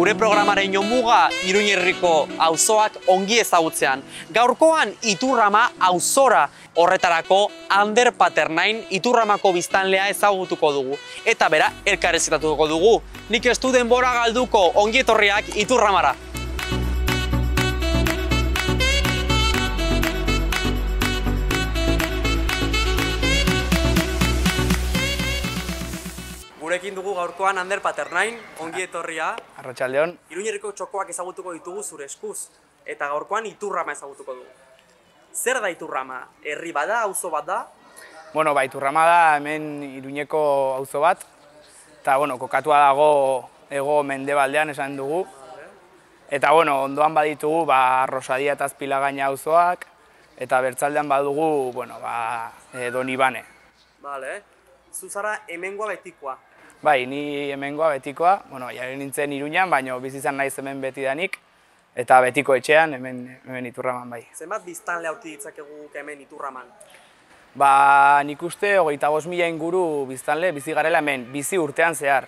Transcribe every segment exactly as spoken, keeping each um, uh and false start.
gure programaren jomuga Iruñerriko auzoak ongi ezagutzean. Gaurkoan Iturrama auzora horretarako Ander Paternain Iturramako biztanlea ezagutuko dugu. Eta bera, elkarrizketatuko dugu. Nik ez du denbora galduko, ongi etorriak Iturramara. Gurekin dugu gaurkoan Ander Paternain, ongi etorria. Arratsaldeon. Iruñerriko txokoak ezagutuko ditugu zure eskuz, eta gaurkoan Iturrama ezagutuko dugu. Zer da Iturrama? Herri bada, auzo bat da? Bueno, ba, Iturrama da hemen Iruñeko auzo bat, eta bueno, kokatua dago hego mendebaldean esan dugu. Eta bueno, ondoan baditugu ba, Rosadia eta Azpilagaina auzoak, eta bertzaldean badugu, bueno, ba, e, Donibane. Vale. Zu zara hemengoa betikoa. Bai, ni hemengoa betikoa, bueno, jaren nintzen Iruñan, baina bizi izan naiz hemen betidanik, eta betiko etxean hemen, hemen Iturraman bai. Zenbat biztanle aurki ditzakegu hemen Iturraman? Ba, nik uste hogeita bost mila inguru biztanle bizi garela hemen, bizi urtean zehar.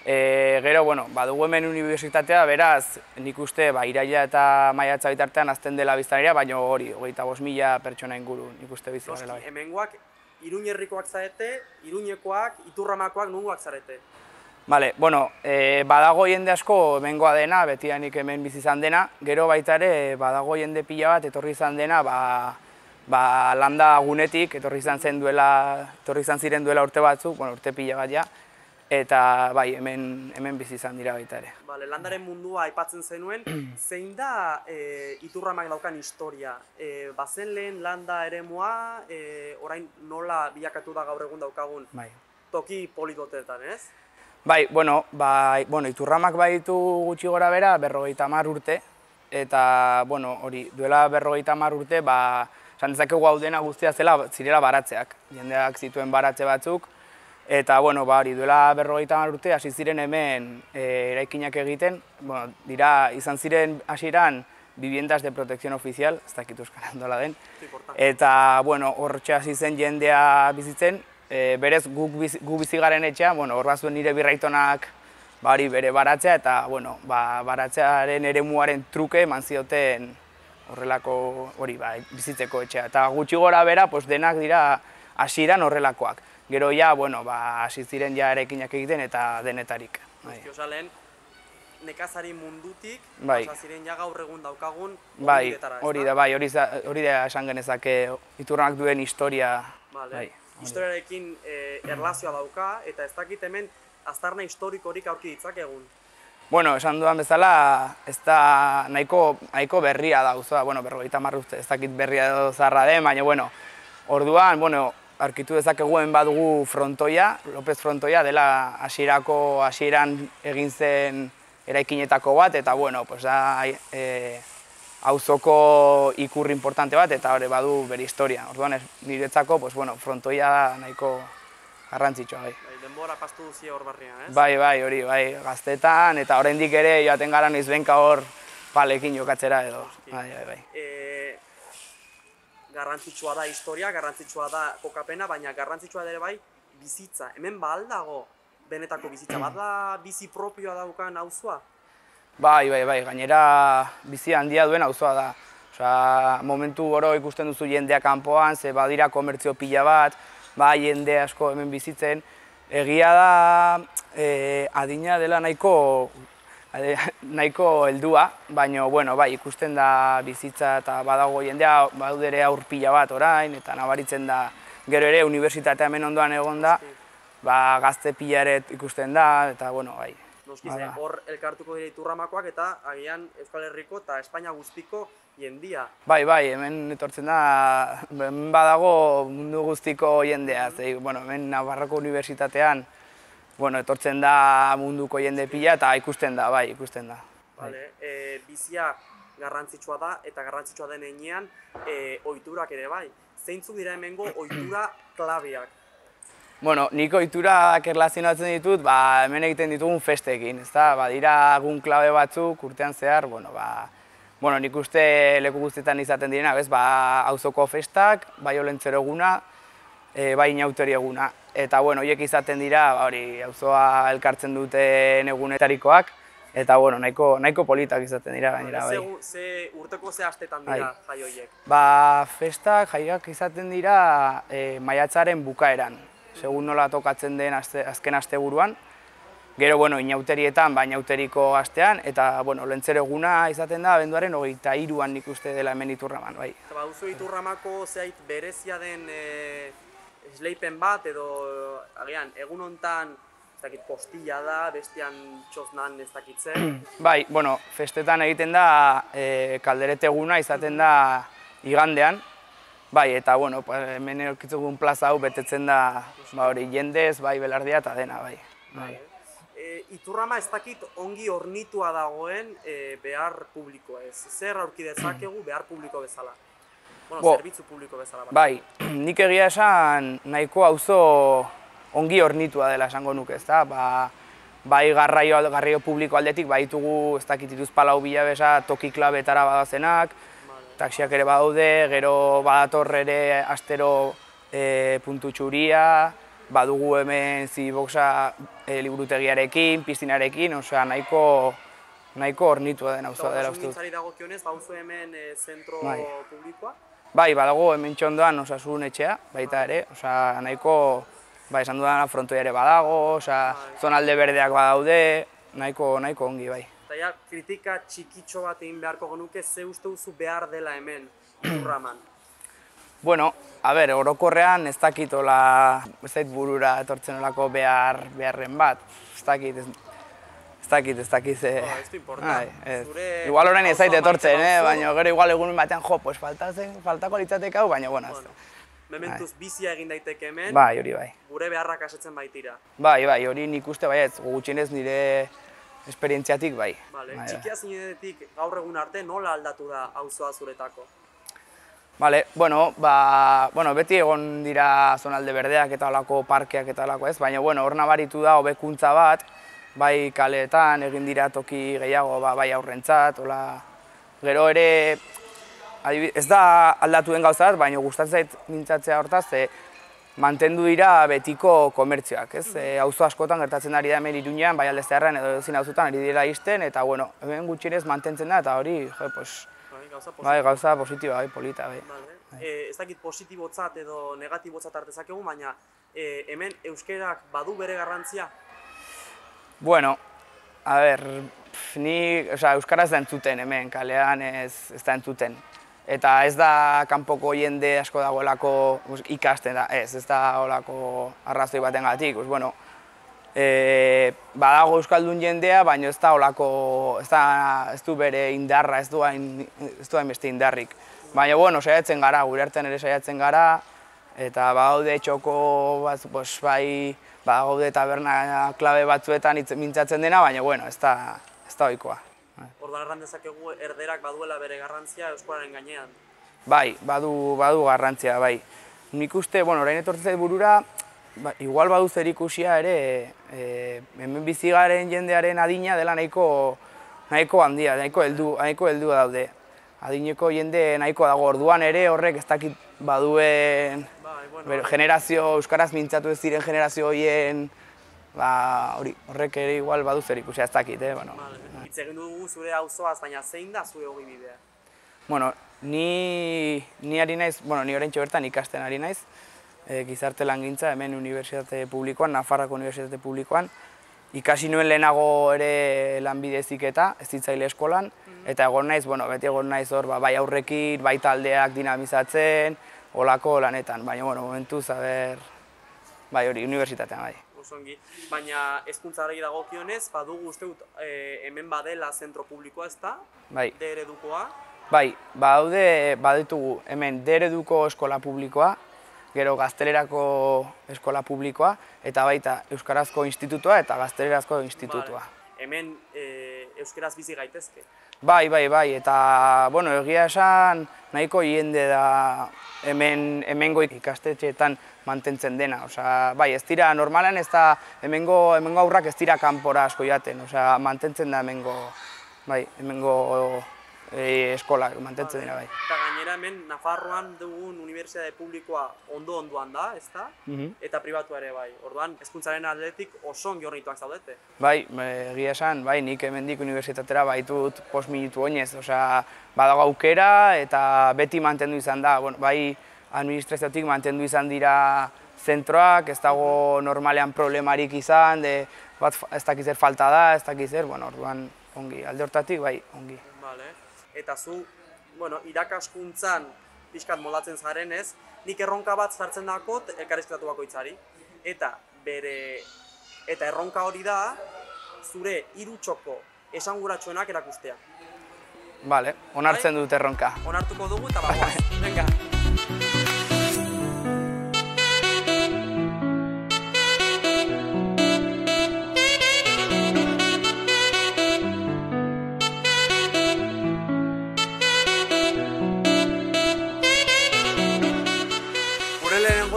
E, gero, bueno, badugu hemen unibertsitatea, beraz, nik uste ba, iraila eta maiatza bitartean azten dela biztanleria, baina hori, hogeita bost mila pertsona inguru nik uste bizi garela bai. Hemengoak Iruñerrikoak zarete, Iruñekoak, Iturramakoak nungoak zarete? Bale, bueno, e, badago jende asko hemengoa dena, betidanik hemen bizi izan dena, gero baita ere badago jende pila bat etorri izan dena, ba, ba, landa gunetik, etorri izan zen duela, etorri izan ziren duela urte batzuk, bueno, urte pila bat ja, eta bai, hemen, hemen bizi izan dira baita ere. Bale, landaren mundua aipatzen zenuen, zein da e, Iturramak daukan historia? E, bazen lehen landa eremua, e, orain nola bilakatu da gaur egun daukagun bai. Toki politoteetan, ez? Bai, bueno, bai, bueno, Iturramak baditu gutxi gora bera berrogeita hamar urte, eta, bueno, hori, duela berrogeita hamar urte, ba, esan dezakegu hau dena guztia zela, zirela baratzeak, jendeak zituen baratze batzuk, eta, bueno, ba, hori, duela berrogeita hamar urte, hasi ziren hemen e, eraikinak egiten, bueno, dira, izan ziren hasieran viviendas de protección oficial, ez dakit euskaran dola den, eta, bueno, hortxe hasi zen jendea bizitzen, e, berez guk bizi, gu bizi garen etxea, bueno, hor bazuen nire birraitonak bari bere baratzea, eta, bueno, ba, baratzearen eremuaren truke eman zioten horrelako hori, ba, bizitzeko etxea, eta gutxi gora bera, pues, denak dira hasieran horrelakoak. Gero ja, bueno, ba, hasi ziren ja erekinak egiten eta denetarik. Osa lehen, nekazari mundutik, bai. Osa ziren ja gaur egun daukagun bai, hori da, bai, hori da esan genezake Iturramak duen historia. Vale. Bai, historiarekin e, erlazioa dauka, eta ez dakit hemen aztarna historikorik aurki ditzakegun. Bueno, esan dudan bezala, ez da nahiko, nahiko berria da, auzoa, bueno, berrogeita hamar urte, ez dakit berria edo zaharra den, baina, bueno, orduan, bueno, aurkitu dezakeguen badugu frontoia, López Frontoia, dela hasierako hasieran egin zen eraikinetako bat, eta bueno, pues da e, auzoko ikurri importante bat, eta hori badu bere historia. Orduan niretzako, pues bueno, frontoia da nahiko garrantzitsua bai. Bai, denbora pastu duzie hor barrian, ez? Bai, bai, hori, bai, gaztetan, eta oraindik ere joaten gara noizbenka hor palekin jokatzera edo. Bai, bai, bai. E, garrantzitsua da historia, garrantzitsua da kokapena, baina garrantzitsua ere bai bizitza. Hemen ba aldago benetako bizitza, bat da bizi propioa daukan auzoa? Bai, bai, bai, gainera bizi handia duen auzoa da. Osea, momentu oro ikusten duzu jendea kanpoan, ze badira komertzio pila bat, bai jende asko hemen bizitzen. Egia da e, adina dela nahiko nahiko heldua, baina, bueno, bai, ikusten da bizitza eta badago jendea, badudere aur pila bat orain, eta nabaritzen da, gero ere, unibertsitatea hemen ondoan egon da, ba, gazte pila ere ikusten da, eta, bueno, bai. Noskiz, hor elkartuko dira Iturramakoak eta agian Euskal Herriko eta Espainia guztiko jendia. Bai, bai, hemen etortzen da, hemen badago mundu guztiko jendea, zei, bueno, hemen Navarroko unibertsitatean, bueno, etortzen da munduko jende pila eta ikusten da, bai, ikusten da. Vale, e, bizia garrantzitsua da eta garrantzitsua den heinean e, ohiturak ere bai. Zeintzuk dira hemengo ohitura klabeak? Bueno, nik ohiturak erlazionatzen ditut, ba, hemen egiten ditugun festekin, ezta? Ba, dira egun klabe batzuk urtean zehar, bueno, ba, bueno, nik uste leku guztietan izaten direna, bez, ba, auzoko festak, bai olentzero eguna, e, bai inautori eguna. Eta, bueno, horiek izaten dira, hori, auzoa elkartzen duten egunetarikoak, Eta, bueno, nahiko, nahiko politak izaten dira gainera, bai. Ze, ze urteko ze astetan dira jai horiek? Ba, festak, jaiak izaten dira e, maiatzaren bukaeran, segun nola tokatzen den azte, azken asteburuan. Gero, bueno, inauterietan, ba, inauteriko astean, eta, bueno, lentzero eguna izaten da, abenduaren hogeita hiruan nik uste dela hemen Iturraman, bai. Eta ba, duzu Iturramako zehait berezia den e, esleipen bat, edo, agian, egun hontan, ez dakit, postilla da, bestian txosnan ez dakitze. Bai, bueno, festetan egiten da, e, kalderete eguna izaten da igandean, bai, eta, bueno, hemen erokitzugun plaza hau betetzen da, ba, hori, jendez, bai, belardia eta dena, bai. bai. E, Iturrama ez dakit ongi hornitua dagoen e, behar publikoa ez. Zer aurki dezakegu behar publiko bezala? Bueno, Bo, zerbitzu publiko bezala. Bai, nik egia esan nahiko auzo ongi hornitua dela esango nuke, ezta? Ba, bai garraio, garraio publiko aldetik, bai ditugu ez dakit Hiruzpalau Bilabesa toki klabetara badazenak, vale. Taxiak ere badaude, gero badator ere astero e, puntu txuria, badugu hemen Ziboxa e, liburutegiarekin, piztinarekin, osea, nahiko nahiko hornitua den auzoa dela uste dut. Osasungintzari dagokionez, bauzu hemen e, zentro bai. publikoa? Bai, badago hemen txondoan osasun etxea, baita ere, osea, nahiko, bai, esan dudana frontoia ere badago, osea, bai. Zonalde berdeak badaude, nahiko, nahiko ongi, bai. Eta ja, kritika txikitxo bat egin beharko genuke, ze uste duzu behar dela hemen, Iturraman? Bueno, a ber, orokorrean ez dakit ola, ez dakit burura etortzen olako behar, beharren bat, ez dakit, ez, ez dakit, ez dakit ze... Oh, ez du importan. Igual orain ez zait etortzen, eh? Baina gero igual egun batean, jo, pues faltatzen, faltako litzateke hau, baina bueno, ez. Mementuz bizia egin daiteke hemen, bai, hori bai. Gure beharrak asetzen baitira. Bai, bai, hori nik uste baietz, gutxienez nire esperientziatik bai. Vale, txikia zinetik gaur egun arte nola aldatu da auzoa zuretako? Vale, bueno, ba, bueno, beti egon dira zonalde berdeak eta olako parkeak eta olako ez, baina bueno, hor nabaritu da hobekuntza bat, bai kaleetan egin dira toki gehiago, ba, bai aurrentzat, hola, gero ere, ez da aldatu den gauza bat, baina gustatzen zait mintzatzea hortaz, e, mantendu dira betiko komertzioak, ez? E, auzo askotan gertatzen ari da hemen Iruñean, bai alde zeharrean edo ezin auzotan ari dira isten, eta bueno, hemen gutxienez mantentzen da, eta hori, jo, pues, bai, gauza positiba, bai, polita, bai. Vale. E, ez dakit positibotzat edo negatibotzat artezakegu, baina e, hemen euskerak badu bere garrantzia? Bueno, a ber, ni, osea, euskaraz da entzuten hemen, kalean ez, ez da entzuten. Eta ez da kanpoko jende asko dagoelako ikasten da, ez, ez da olako arrazoi batengatik, pues, bueno, e, badago euskaldun jendea, baina ez da olako, ez, da, ez du bere indarra, ez du hain, ez du hain beste indarrik. Baina, bueno, saiatzen gara, gure artean ere saiatzen gara, eta badaude txoko, bat, pues, bai, badaude taberna klabe batzuetan mintzatzen dena, baina, bueno, ez da, ez da ohikoa. Orduan erran dezakegu erderak baduela bere garrantzia euskararen gainean? Bai, badu, badu garrantzia, bai. Nik uste, bueno, orain etortzen zait burura, ba, igual badu zerikusia ere, e, hemen bizigaren jendearen adina dela nahiko, nahiko handia, nahiko heldu, nahiko heldu daude. Adineko jende nahiko dago, orduan ere horrek ez dakit baduen bai, bueno, ber, generazio, euskaraz mintzatu ez diren generazio horien, ba, hori, horrek ere igual badu zerikusia ez dakit, eh, bueno. Vale. Hitz egin dugu zure auzoaz, baina zein da zure ogi bidea? Bueno, ni, ni ari naiz, bueno, ni oraintxe bertan ikasten ari naiz, e, gizarte langintza hemen unibertsitate publikoan, Nafarroako unibertsitate publikoan, ikasi nuen lehenago ere lanbide heziketa, hezitzaile eskolan, eta egon naiz, bueno, beti egon naiz hor, ba, bai aurrekin, bai taldeak dinamizatzen, olako lanetan, baina, bueno, momentuz, aber, bai hori, unibertsitatean, bai. Osongi, baina hezkuntzari dagokionez, badugu uste dut e, hemen badela zentro publikoa, ez da? Bai. D eredukoa? Bai, badaude, baditugu hemen D ereduko eskola publikoa, gero gaztelerako eskola publikoa, eta baita euskarazko institutua eta gaztelerazko institutua. Vale. Hemen e, euskaraz bizi gaitezke? Bai, bai, bai, eta, bueno, egia esan nahiko jende da hemen, hemengo ikastetxeetan mantentzen dena. Osea, bai, ez dira, normalan ez da, hemengo, hemengo aurrak ez dira kanpora asko jaten, osea, mantentzen da hemengo, bai, hemengo e, eskolak mantentzen dira bai. Eta gainera hemen Nafarroan dugun unibertsitate publikoa ondo-ondoan da, ezta? Eta pribatua ere bai. Orduan, hezkuntzaren aldetik oso ongi hornituak zaudete. Bai, egia esan, bai, nik hemendik unibertsitatera baitut post minutu oinez, osea, badago aukera eta beti mantendu izan da, bueno, bai, administraziotik mantendu izan dira zentroak, ez dago normalean problemarik izan, de, bat ez dakiz zer falta da, ez dakiz zer, bueno, orduan ongi, alde hortatik, bai, ongi. Vale. Eta zu, bueno, irakaskuntzan pixkat moldatzen zarenez, nik erronka bat sartzen dakot elkarrizketatu bakoitzari. Eta bere, eta erronka hori da, zure hiru txoko esanguratsuenak erakustea. Vale, onartzen dut erronka. Onartuko dugu eta bagoaz. Venga.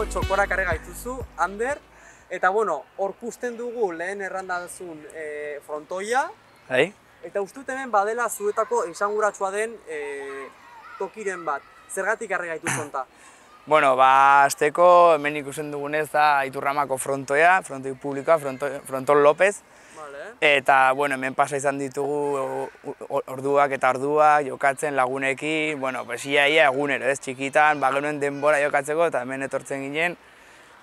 Txokora karri gaituzu, Ander, eta bueno, orkusten dugu lehen errandazun e, frontoia, Hai? Eta uste dut hemen badela zuetako esanguratsua den e, tokiren bat. Zergatik karri gaituzu honta? Bueno, ba, azteko hemen ikusten dugunez da Iturramako frontoia, frontoi publikoa, Frontol López. Vale. Eta, bueno, hemen pasa izan ditugu orduak eta orduak jokatzen lagunekin, bueno, pues ia ia egunero, ez, txikitan, ba, genuen denbora jokatzeko eta hemen etortzen ginen.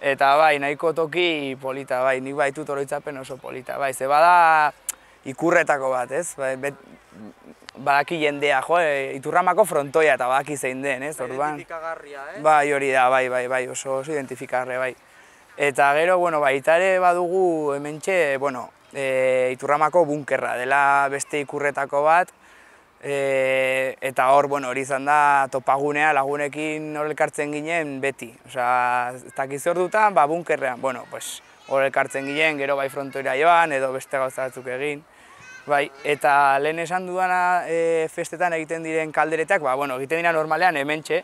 Eta bai, nahiko toki polita, bai, nik baitut oroitzapen oso polita, bai, ze bada ikurretako bat, ez, bai, bet, badaki jendea, jo, Iturramako frontoia eta badaki zein den, ez, orduan. Identifikagarria, eh? Bai, hori da, bai, bai, bai, oso, oso identifikagarria, bai. Eta gero, bueno, baita ere badugu hementxe, bueno, e, Iturramako bunkerra, dela beste ikurretako bat, e, eta hor, bueno, hori izan da topagunea lagunekin hor elkartzen ginen beti. Osea, ez dakiz hor dutan, ba, bunkerrean, bueno, pues, hor elkartzen ginen, gero bai frontoira joan, edo beste gauza batzuk egin. Bai, eta lehen esan dudana e, festetan egiten diren kalderetak, ba, bueno, egiten dira normalean hementxe,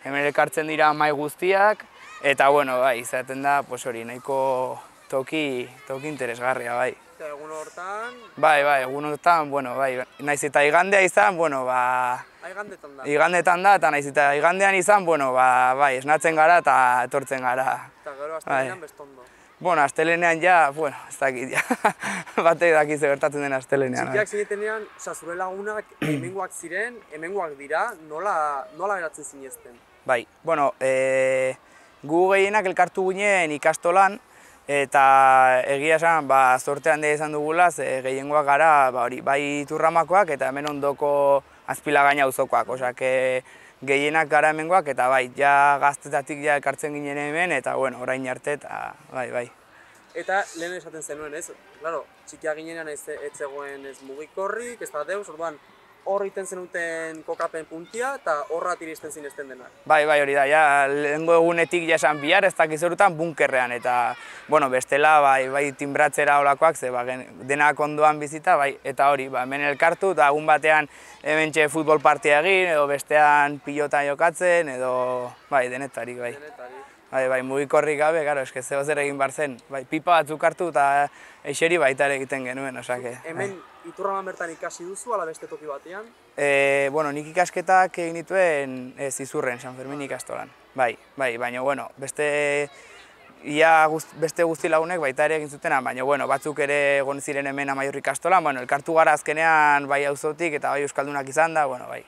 hemen elkartzen dira mahai guztiak, eta, bueno, bai, izaten da, pues hori, nahiko toki, toki interesgarria, bai. Eta egun hortan? Bai, bai, egun hortan, bueno, bai, naiz eta igandea izan, bueno, ba... Igandetan da? Igandetan da, eta naiz eta igandean izan, bueno, ba, bai, esnatzen gara eta etortzen gara. Eta gero astelenean bestondo? Bueno, astelenean ja, bueno, ez dakit, ja, batek daki ze gertatzen den astelenean. Txikiak zinetenean, oza, zure lagunak hemengoak ziren, hemengoak dira, nola, nola geratzen zinezten? Bai, bueno, e, gu gehienak elkartu ginen ikastolan, eta egia esan, ba, zorte handia izan dugula, ze gehiengoak gara, ba, hori, bai Iturramakoak eta hemen ondoko Azpilagaina auzokoak, osea, gehienak gara hemengoak, eta bai, ja gaztetatik ja elkartzen ginen hemen, eta bueno, orain arte, eta bai, bai. Eta lehen esaten zenuen, ez? Claro, txikia ginean ez zegoen ez mugikorrik, ez da deus, orduan hor egiten zenuten kokapen puntia, eta horrat iristen zinezten denak. Bai, bai, hori da, ja, lehengo egunetik ja esan bihar, ez dakiz horutan bunkerrean, eta, bueno, bestela, bai, bai, timbratzera holakoak, ze, ba, denak ondoan bizita, bai, eta hori, ba, hemen elkartu, eta egun batean hementxe futbol partia egin, edo bestean pilota jokatzen, edo, bai, denetarik, bai. Denetarik. Bai, bai, mugikorrik gabe, garo, eske zeo zer egin bar zen, bai, pipa batzuk hartu eta eixeri baita ere egiten genuen, osake. Hemen Iturraman bertan ikasi duzu, ala beste toki batean? E, bueno, nik ikasketak egin dituen ez Izurren, San Fermin ikastolan. Bai, bai, baina, bueno, beste, ia guzt, beste guzti lagunek baita ere egin zutena, baina, bueno, batzuk ere egon ziren hemen Amaiur ikastolan, bueno, elkartu gara azkenean bai auzotik eta bai euskaldunak izan da, bueno, bai.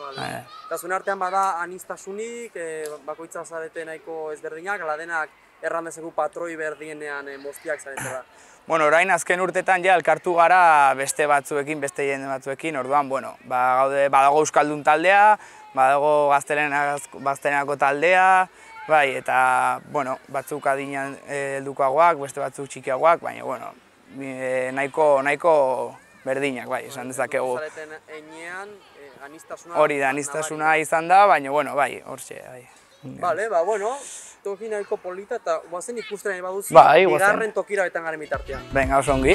Vale. Eta zuen artean bada anistasunik, e, bakoitza zarete nahiko ezberdinak, ala denak errandezeku patroi berdienean e, moztiak zaretela. Bueno, orain azken urtetan ja elkartu gara beste batzuekin, beste jende batzuekin, orduan, bueno, ba, gaude, badago euskaldun taldea, badago gaztelenako taldea, bai, eta, bueno, batzuk adinean heldukoagoak, beste batzuk txikiagoak, baina, bueno, e, nahiko, nahiko berdinak, bai, esan dezakegu. Zareten enean, anistasuna... Hori da, anistasuna izan da, baina, bueno, bai, hortxe, bai. Bale, ba, bueno, toki nahiko polita eta guazen ikusten nahi baduzu, bai, bigarren tokira betan garen bitartean. Venga, oso ongi.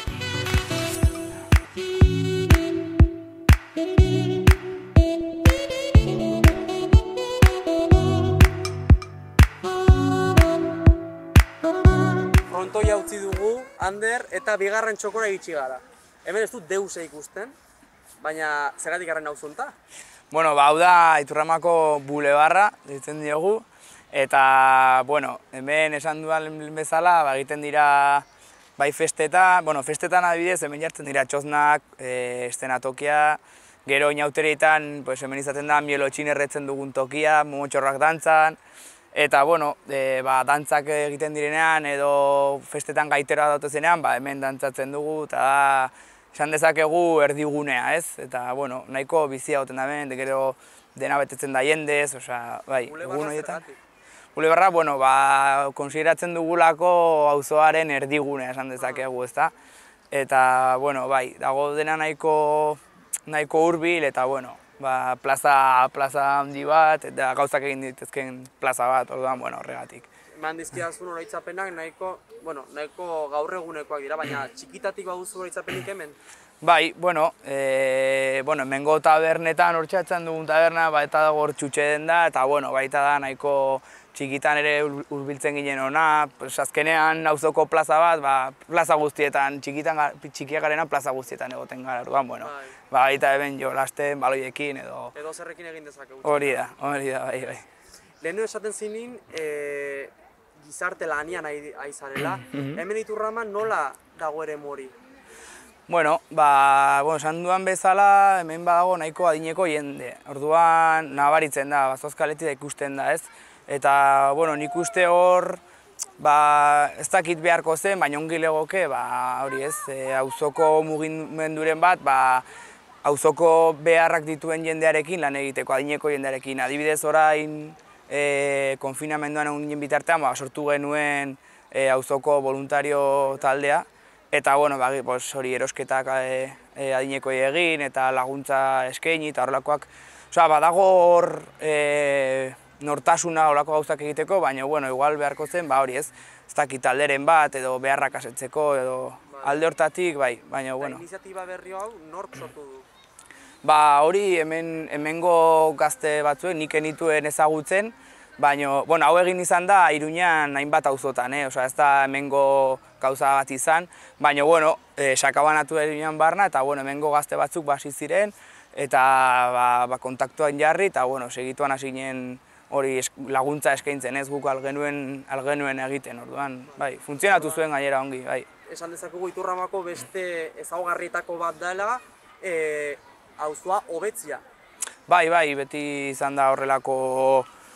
Frontoia utzi dugu, Ander, eta bigarren txokora iritsi gara. Hemen ez dut deuse ikusten, baina zergatik garren hau zonta? Bueno, ba, hau da Iturramako bulebarra, ditzen diogu, eta, bueno, hemen esan duan bezala, ba, egiten dira bai festetan, bueno, festetan adibidez, hemen jartzen dira txosnak, e, estenatokia, gero inauterietan, pues, hemen izaten da mielotxin erretzen dugun tokia, momotxorrak dantzan, eta, bueno, e, ba, dantzak egiten direnean edo festetan gaitera datozenean, ba, hemen dantzatzen dugu, eta da, esan dezakegu erdigunea, ez? Eta, bueno, nahiko bizia goten da hemen, gero dena betetzen da jendez, osea, bai, egun horietan. Bulebarra, bueno, ba, konsideratzen dugulako auzoaren erdigunea esan dezakegu, ezta? Eta, bueno, bai, dago dena nahiko nahiko hurbil eta, bueno, ba, plaza, plaza handi bat, eta gauzak egin ditezken plaza bat, orduan, bueno, horregatik. Eman dizkidazun oroitzapenak nahiko, bueno, nahiko gaur egunekoak dira, baina txikitatik baduzu oroitzapenik hemen? Bai, bueno, e, bueno, hemengo tabernetan hortxatzen dugun taberna, ba, eta dago hor txutxe den da, eta, bueno, baita da nahiko txikitan ere hurbiltzen ginen ona, pues, azkenean auzoko plaza bat, ba, plaza guztietan, txikitan, txikiak garena plaza guztietan egoten gara, orduan, bueno, bai. Ba, baita eben jolasten, baloiekin edo... Edo zerrekin egin dezakegu. Hori da, hori da, bai, bai. Lehenu esaten zinin, e, gizarte lanian ari zarela, hemen Iturraman nola dago ere mori? Bueno, ba, bueno, esan duan bezala, hemen badago nahiko adineko jende. Orduan, nabaritzen da, Bazoazkaletik da ikusten da, ez? Eta, bueno, nik uste hor, ba, ez dakit beharko zen, baina ongi legoke, ba, hori ez, e, auzoko mugimenduren bat, ba, auzoko beharrak dituen jendearekin lan egiteko, adineko jendearekin. Adibidez orain, e, konfinamenduan egun bitartean, ba, sortu genuen e, auzoko voluntario taldea, eta, bueno, ba, pues, hori erosketak e, e, adinekoi egin, eta laguntza eskaini, eta horrelakoak. Osea, badago hor e, nortasuna horrelako gauzak egiteko, baina, bueno, igual beharko zen, ba, hori ez, ez dakit talderen bat, edo beharrak asetzeko, edo alde hortatik, bai, baina, bueno. Iniziatiba berri hau nork sortu du? Ba, hori hemen, hemengo gazte batzuen nik enituen ezagutzen, baina, bueno, hau egin izan da Iruñan hainbat auzotan, eh? Osea, ez da hemengo gauza bat izan, baina, bueno, eh, sakabanatu Iruñan barna, eta, bueno, hemengo gazte batzuk basi ziren, eta ba, ba, kontaktuan jarri, eta, bueno, segituan hasi ginen hori laguntza eskaintzen, ez guk algenuen, algenuen egiten, orduan, bai, funtzionatu zuen gainera ongi, bai. Esan dezakegu Iturramako beste ezaugarrietako bat dela, e, auzoa hobetzia. Bai, bai, beti izan da horrelako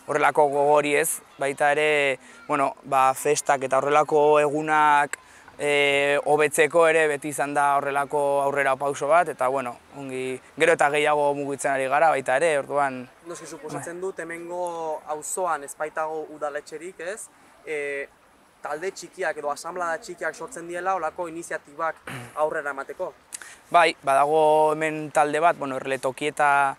horrelako gogori ez, baita ere, bueno, ba, festak eta horrelako egunak e, hobetzeko ere beti izan da horrelako aurrera pauso bat, eta, bueno, ongi, gero eta gehiago mugitzen ari gara baita ere, orduan... Noski, suposatzen dut, hemengo auzoan ez baitago udaletxerik, ez? E, talde txikiak edo asanblada txikiak sortzen diela olako iniziatibak aurrera emateko. Bai, badago hemen talde bat, bueno, Erletokieta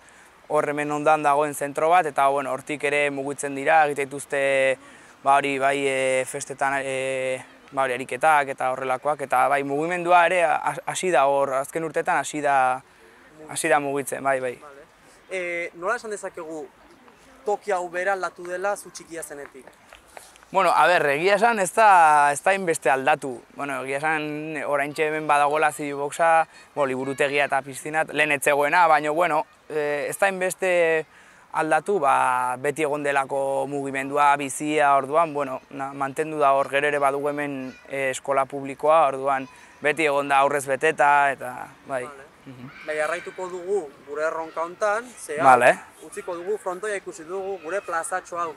hor hemen ondan dagoen zentro bat, eta bueno, hortik ere mugitzen dira, egite dituzte ba hori bai e, festetan e, ba hori ariketak eta horrelakoak, eta bai mugimendua ere hasi da hor, azken urteetan hasi da hasi da mugitzen, bai, bai. Vale. E, nola esan dezakegu toki hau bera aldatu dela zu txikia zenetik? Bueno, a ber, egia esan ez da, ez da inbeste aldatu. Bueno, egia esan oraintxe hemen badagoela Cityboxa, bo, liburutegia eta pizzinat, lehen etzegoena, baina, bueno, ez da inbeste aldatu, ba, beti egon delako mugimendua, bizia, orduan, bueno, na, mantendu da hor, gero ere badugu hemen eh, eskola publikoa, orduan, beti egon da aurrez beteta, eta, bai. Vale. Bai, arraituko dugu gure erronka hontan, zehar, vale. Utziko dugu frontoia ikusi dugu, gure plazatxo hau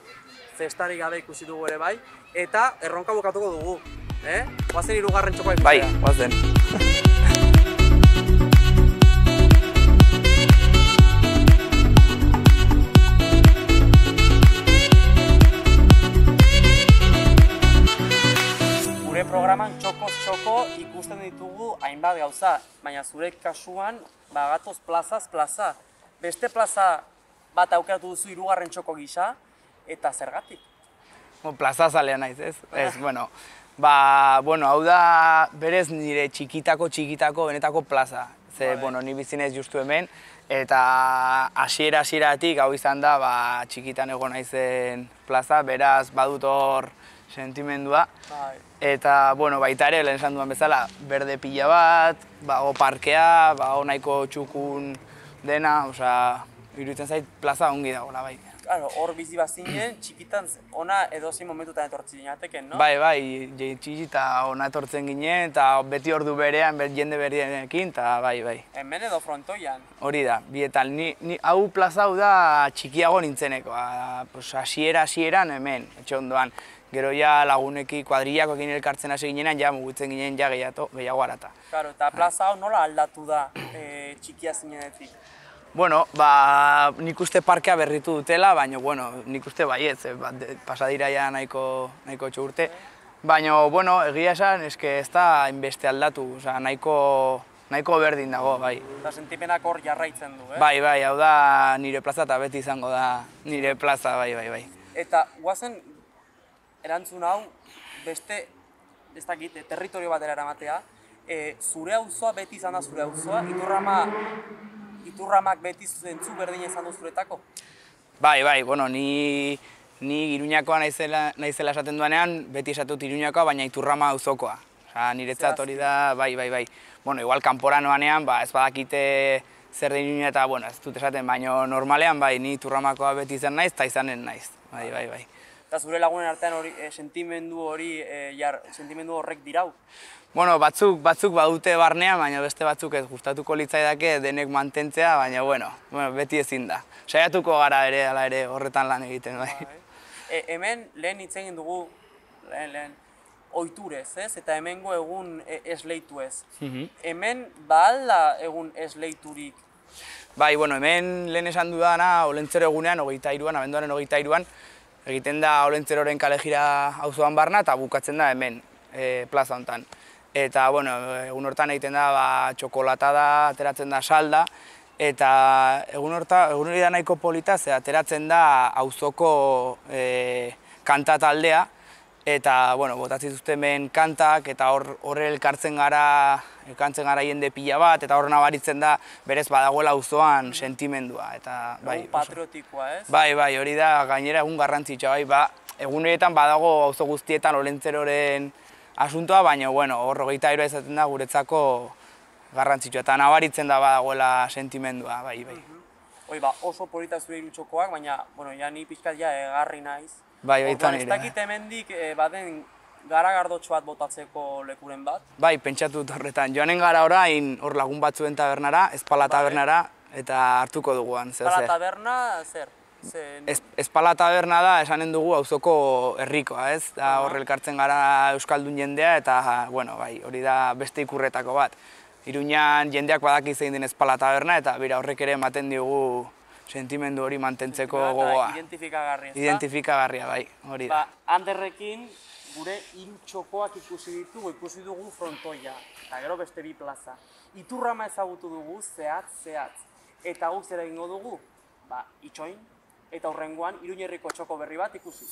festarik gabe ikusi dugu ere bai, eta erronka bukatuko dugu, eh? Guazen hirugarren txokoa ikustea. Bai, guazen. Gure programan txokoz txoko ikusten ditugu hainbat gauza, baina zure kasuan bagatoz plazaz plaza. Beste plaza bat aukeratu duzu hirugarren txoko gisa, eta zergatik? Plaza zalea naiz, ez? Ez, bueno, ba, bueno, hau da berez nire txikitako txikitako benetako plaza. Ze, vale. Bueno, ni bizinez justu hemen, eta hasiera hasieratik hau izan da, ba, txikitan egon naizen plaza, beraz badut hor sentimendua. Bai. Eta, bueno, baita ere, lehen esan duan bezala, berde pila bat, bago parkea, bago nahiko txukun dena, osea, iruditzen zait plaza ongi dagoela, bai. Claro, hor bizi bazinen, txikitan ona edozein momentutan etortzen ginateken, no? Bai, bai, txiki eta ona etortzen ginen, eta beti ordu berean, jende berrienekin, eta bai, bai. Hemen edo frontoian. Hori da, bietan, ni, ni, hau plaza hau da txikiago nintzeneko, pues, hasiera hasieran hemen, etxe ondoan. Gero ja laguneki kuadrillakoekin elkartzen hasi ginenan, ja mugitzen ginen ja gehiago, gehiago harata. Claro, eta plaza hau nola aldatu da e, txikia zinenetik? Bueno, ba, nik uste parkea berritu dutela, baina, bueno, nik uste baietz, eh, pasadira ja nahiko, nahiko txo urte. Baina, bueno, egia esan, eske ez da inbeste aldatu, oza, nahiko, nahiko berdin dago, bai. Eta sentipenak hor jarraitzen du, eh? Bai, bai, hau da nire plaza eta beti izango da nire plaza, bai, bai, bai. Eta guazen erantzun hau beste, ez dakit, territorio batera eramatea, e, zure auzoa beti izan da zure auzoa, Iturrama, Iturramak beti zentzu berdina izan du zuretako? Bai, bai, bueno, ni, ni Iruñakoa naizela, naizela esaten duanean, beti esatut Iruñakoa, baina Iturrama auzokoa. Osa, niretzat hori da, bai, bai, bai. Bueno, igual kanpora noanean, ba, ez badakite zer den Iruña eta, bueno, ez dut esaten, baina normalean, bai, ni Iturramakoa beti izan naiz, eta izanen naiz, bai, bai, bai. Eta zure lagunen artean hori, e, sentimendu hori, e, jar, sentimendu horrek dirau? Bueno, batzuk, batzuk badute barnean, baina beste batzuk ez gustatuko litzaidake denek mantentzea, baina, bueno, bueno, beti ezin da. Saiatuko gara ere, ala ere, horretan lan egiten, bai. E, hemen lehen hitz egin dugu, lehen, lehen, ohiturez, ez? Eta hemengo egun e, esleitu ez. Hemen ba alda egun esleiturik? Bai, bueno, hemen lehen esan dudana, Olentzero egunean, hogeita hiruan, abenduaren hogeita hiruan, egiten da Olentzeroren kalejira auzoan barna eta bukatzen da hemen, e, plaza honetan. Eta, bueno, egun hortan egiten da ba, txokolatada, ateratzen da salda, eta egun horta, egun hori da nahiko polita, ze ateratzen da auzoko e, kanta taldea, eta, bueno, botatzen zuten hemen kantak, eta hor horre elkartzen gara, elkartzen gara jende pila bat, eta hor nabaritzen da berez badagoela auzoan sentimendua. Eta, bai, egun patriotikoa, ez? Bai, bai, hori da gainera egun garrantzitsua, bai, ba, egun horietan badago auzo guztietan Olentzeroren asuntoa, baina, bueno, hor hogeita hiru izaten da guretzako garrantzitsua, eta nabaritzen da badagoela sentimendua, bai, bai. Hoi, ba, oso polita zure irutxokoak, baina, bueno, ja ni pixkat ja egarri naiz. Bai, baita nire. Ez dakit hemendik baden garagardotxo bat botatzeko lekuren bat? Bai, pentsatu dut horretan. Joanen gara orain hor lagun batzuen tabernara, Espala tabernara, eta hartuko duguan, zer zer. Espala taberna, zer? Espala taberna da, esanen dugu auzoko herrikoa, ez? Da hor elkartzen gara euskaldun jendea, eta, bueno, bai, hori da beste ikurretako bat. Iruñan jendeak badaki zein den Espala taberna, eta bera horrek ere ematen diogu sentimendu hori mantentzeko gogoa. Identifikagarria, ez da? Identifikagarria, bai, hori da. Ba, Anderrekin gure hiru txokoak ikusi ditugu, ikusi dugu frontoia, eta gero beste bi plaza. Iturrama ezagutu dugu, zehatz, zehatz. Eta guk zer egingo dugu? Ba, itxoin, eta hurrengoan Iruñerriko txoko berri bat ikusi.